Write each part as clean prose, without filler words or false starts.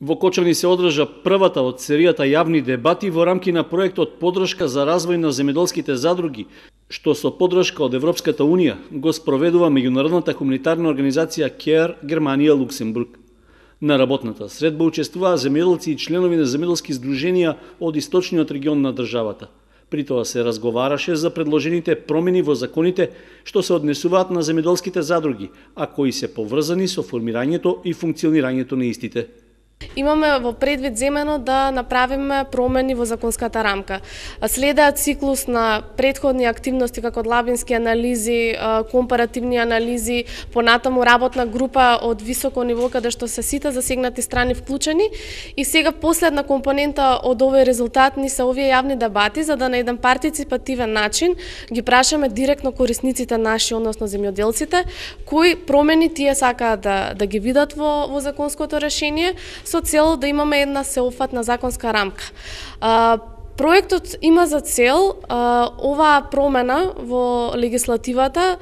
Во Кочани се одржа првата од серијата јавни дебати во рамки на проектот Подршка за развој на земјоделските задруги, што со подршка од Европската Унија го спроведува меѓународната хуманитарна организација CARE Германија Луксембург. На работната средба учествуваа земјоделци и членови на земјоделски здруженија од источниот регион на државата. При тоа се разговараше за предложените промени во законите што се однесуваат на земјоделските задруги, а кои се поврзани со формирањето и функционирањето на истите. Имаме во предвид земено да направиме промени во законската рамка. Следаат циклус на претходни активности како длабински анализи, компаративни анализи, понатаму работна група од високо ниво каде што се сите засегнати страни вклучени и сега последна компонента од овој резултат ни се овие јавни дебати за да на еден партиципативен начин ги прашаме директно корисниците наши, односно земјоделците, кои промени тие сакаат да ги видат во законското решение со цел да имаме една сеопфатна законска рамка. Проектот има за цел оваа промена во легислативата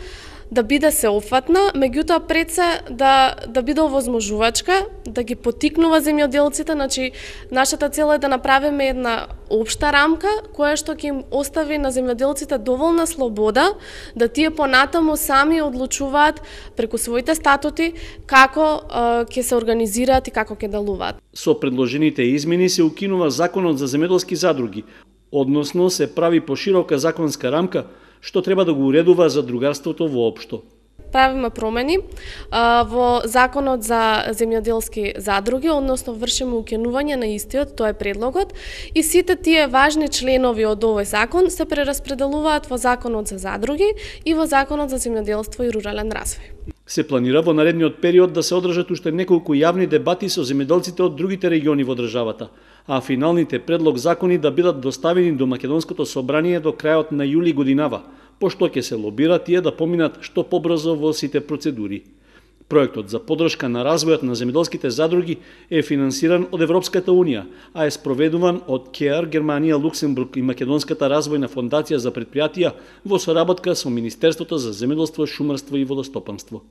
да биде сеопфатна, меѓутоа пред се да биде овозможувачка, да ги поттикнува земјоделците, значи нашата цел е да направиме една општа рамка која што ќе им остави на земјоделците доволна слобода да тие понатаму сами одлучуваат преку своите статути како ќе се организираат и како ќе делуваат. Со предложените измени се укинува законот за земјоделски задруги, односно се прави поширока законска рамка што треба да го уредува задругарството воопшто. Правиме промени во законот за земјоделски задруги, односно вршиме укинување на истиот, тоа е предлогот, и сите тие важни членови од овој закон се прераспределуваат во законот за задруги и во законот за земјоделство и рурален развој. Се планира во наредниот период да се одржат уште неколку јавни дебати со земјоделците од другите региони во државата, а финалните предлог закони да бидат доставени до Македонското собрание до крајот на јули годинава, пошто ќе се лобира тие да поминат што побрзо во сите процедури. Проектот за подршка на развојот на земјоделските задруги е финансиран од Европската Унија, а е спроведуван од CARE Германија Луксембург и Македонската развојна фондација за претпријатија во соработка со Министерството за земјоделство, шумарство и водостопанство.